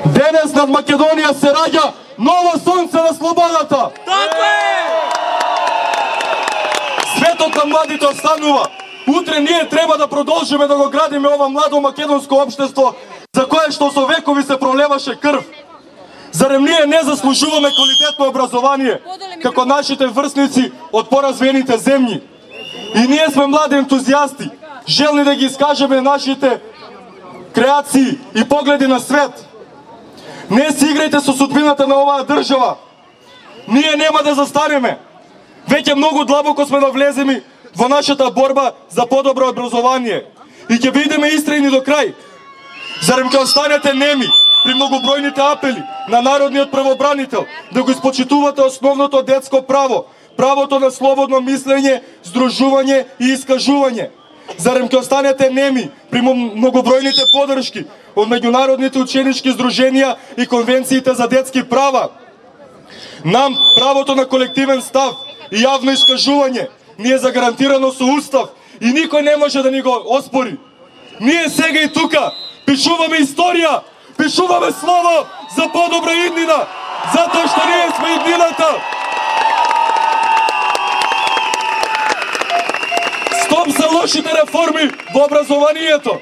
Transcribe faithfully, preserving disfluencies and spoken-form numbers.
Денес над Македонија се раѓа ново сонце на слободата. Така е! Светот на младите останува. Утре ние треба да продолжиме да го градиме ова младо македонско општество за кое што со векови се пролеваше крв. Зарем ние не заслужуваме квалитетно образование како нашите врсници од поразвиените земји? И ние сме млади ентузијасти, желни да ги искажеме нашите креации и погледи на свет. Не си играјте со судбината на оваа држава. Ние нема да застанеме. Веќе многу длабоко сме да влеземе во нашата борба за подобро образование. И ќе бидеме истрени до крај. Зарем ќе останете неми при многобројните апели на народниот правобранител да го испочитувате основното детско право, правото на слободно мислење, здружување и искажување? Зарем ќе останете неми при многобројните подршки од меѓународните ученички здруженија и конвенциите за детски права? Нам правото на колективен став и јавно искажување ни е загарантирано со устав и никој не може да ни го оспори. Ние сега и тука пишуваме историја, пишуваме слово за подобра иднина, затоа што ние сме иднината. Стоп за лошите реформи во образованието.